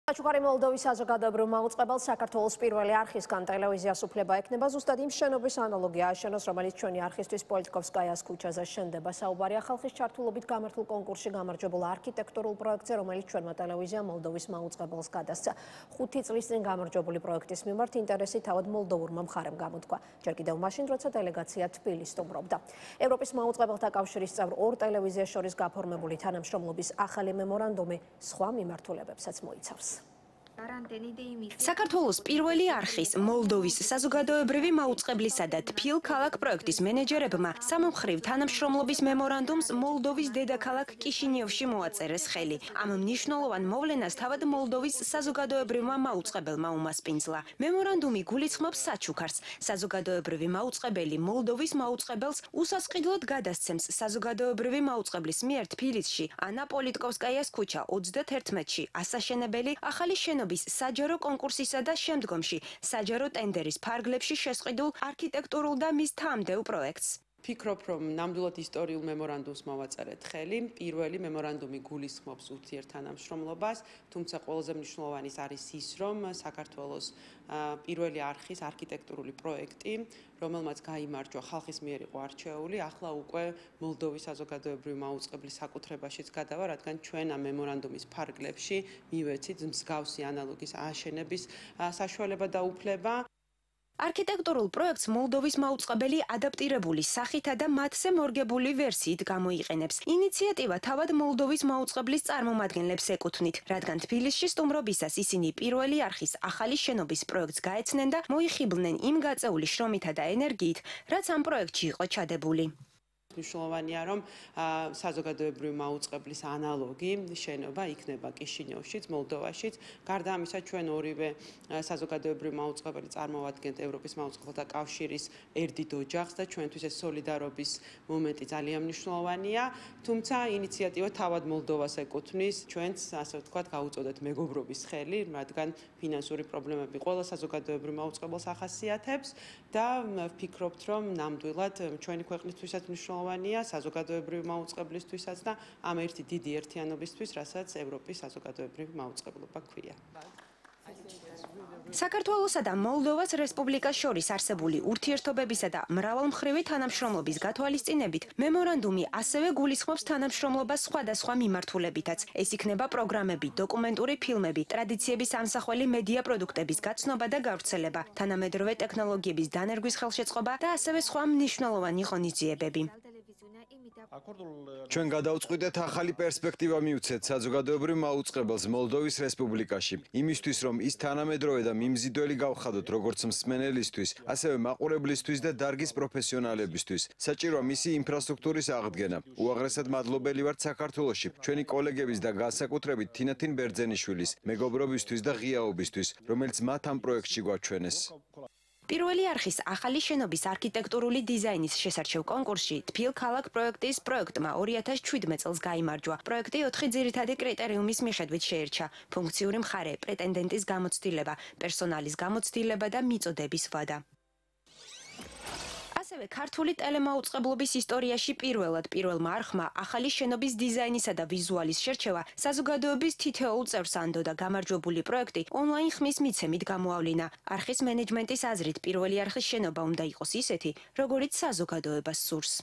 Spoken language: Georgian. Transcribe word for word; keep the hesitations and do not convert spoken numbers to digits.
საჩუქარი მოლდოვის საზოგადოებრივ მაუწყებელს საქართველოს პირველი არხისგან ტელევიზიას უფლება ექნება ზუსტად იმ შენობის ანალოგია აშენოს, რომელიც ჩვენი არხისტვის პოლიტიკოვსკაიას ქუჩაზე შენდება. საუბარია ხალხის ჩართულობით გამართულ კონკურსში გამარჯვებულ არქიტექტურულ პროექტზე, რომელიც ჩვენმა ტელევიზიამ მოლდოვის მაუწყებელს გადასცა. ხუთი წლის წინ გამარჯვებული პროექტის მიმართ ინტერესი თავად მოლდოვურმა მხარემ გამოთქვა. ჯერ კიდევ მაშინ, როცა დელეგაცია თბილისს სტუმრობდა. ევროპის მაუწყებელთა კავშირის წევრ ორ ტელევიზიას შორის გაფორმებული თანამშრომლობის ახალი მემორანდუმი სხვა მიმართულებებსაც მოიცავს. საქართველოს პირველი არხის მოლდოვის საზოგადოებრივი მაუწყებლისა და თბილ ქალაქ პროექტის მენეჯერებმა სამმხრივ თანამშრომლობის მემორანდუმს მოლდოვის დედაქალაქ კიშინიოვში მოაწერეს ხელი. ამ მნიშვნელოვან მოვლენას თავად მოლდოვის საზოგადოებრივმა მაუწყებელმა უმასპინძლა. მემორანდუმი გულისხმობს საჩუქარს. საზოგადოებრივი მაუწყებელი მოლდოვის მაუწყებელს უსასყიდლოდ გადასცემს საზოგადოებრივი მაუწყებლის მიერ თბილისში ანა პოლიტკოვსკაიას ქუჩა ოცდაათი-ში ასაშენებელი ახალი შენობა საჯარო კონკურსისა და შემდგომში საჯარო ტენდერის ფარგლებში შესყიდულ არქიტექტურულ და მის თანამდებობ პროექტს. Ფიქრობ, რომ ნამდვილად ისტორიულ მემორანდუმს მოვაწერეთ ხელი. პირველი მემორანდუმი გულისხმობს ურთიერთთანამშრომლობას, თუმცა ყველაზე მნიშვნელოვანი არის ის, რომ საქართველოს პირველი არხის არქიტექტურული პროექტი, რომელმაც გაიმარჯვა ხალხის მიერ იყო არჩეული, ახლა უკვე მოლდოვის საზოგადოებრივი მაუწყებლის საკუთრებაშიც გადავა, რადგან ჩვენ ამ მემორანდუმის ფარგლებში მივეცით მსგავსი ანალოგის აშენების საშუალება და უფლება. არქიტექტურულ პროექტს მოლდოვის მაუწყებელი ადაპტირებული სახითა და მათზე მორგებული ვერსიით გამოიყენებს. ინიციატივა თავად მოლდოვის მაუწყებლის წარმომადგენლებს ეკუთვნით, რადგან თბილისში სტუმრობისას ისინი პირველი არხის ახალი შენობის პროექტს გაეცნენ და მოიხიბლნენ იმ გაწეული შრომითა და ენერგიით, რაც ამ პროექტში იყო ჩადებული. მნიშვნელოვანია, რომ საზოგადოებრივი მაუწყებლის ანალოგი შენობა იქნება კიშინიოვშიც, მოლდოვაშიც. გარდა ამისა, ჩვენ ორივე საზოგადოებრივი მაუწყებელი წარმოვადგენთ ევროპის მაუწყებელთა კავშირის ერთდიდ ოჯახს და ჩვენთვის ეს სოლიდარობის მომენტი ძალიან მნიშვნელოვანია. თუმცა ინიციატივა თავად მოლდოვას ეკუთვნის. ჩვენც, ასე ვთქვათ, გაუწოდეთ მეგობრობის ხელი, რადგან ფინანსური პრობლემები ყველა საზოგადოებრივ მაუწყებელს ახასიათებს და ვფიქრობთ, რომ ნამდვილად ჩვენი ქვეყნისთვისაც მნიშვნელოვანია საზოგადოებრივი მაუწყებლისთვისაც და ამ ერთი დიდი ერთიანობისთვის, რასაც ევროპის საზოგადოებრივი მაუწყებლობა ქვია. საქართველოსა და მოლდოვას რესპუბლიკას შორის არსებული ურთიერთობებისა და მრავალმხრივი თანამშრომლობის გათვალისწინებით მემორანდუმი ასევე გულისხმობს თანამშრომლობას სხვადასხვა მიმართულებითაც. ეს იქნება პროგრამები, დოკუმენტური ფილმები, ტრადიციების ამსახველი მედია პროდუქტების გაცნობა და გავრცელება, თანამედროვე ტექნოლოგიების დანერგვის ხელშეწყობა და ასევე სხვა მნიშვნელოვანი ღონისძიებები. ჩვენ გადავწყვიტეთ ახალი პერსპექტივა მივცეთ საზოგადოებრივ მაუწყებელს მოლდოვის რესპუბლიკაში, იმისთვის რომ ის თანამედროვე და მიმზიდველი გავხადოთ როგორც მსმენელისთვის, ასევე მაყურებლისთვის და დარგის პროფესიონალებისთვის. საჭიროა მისი ინფრასტრუქტურის აღდგენა. უაღრესად მადლობელი ვართ საქართველოში ჩვენი კოლეგების და განსაკუთრებით თინათინ ბერძენიშვილის მეგობრობისთვის და ღიაობისთვის, რომელიც მათ ამ პროექტში გვაჩვენეს. პირველი არხის ახალი შენობის არქიტექტურული დიზაინის შესარჩევ კონკურსში თბილ ქალაქ პროექტის პროექტმა ორი ათას შვიდმეტ წელს გაიმარჯვა. პროექტი ოთხი ძირითადი კრიტერიუმის მიხედვით შეირჩა: ფუნქციური მხარე, პრეტენდენტის გამოცდილება, პერსონალის გამოცდილება და მიწოდების ვადა. ასევე ქართული ტელემაუწყებლობის ისტორიაში პირველად პირველმა არხმა ახალი შენობის დიზაინისა და ვიზუალის შერჩევა საზოგადოების თითოეულ წევრს ანდო და გამარჯვებული პროექტი ონლაინ ხმის მიცემით გამოავლინა. არხის მენეჯმენტის აზრით პირველი არხის შენობა უნდა იყოს ისეთი, როგორიც საზოგადოებას სურს.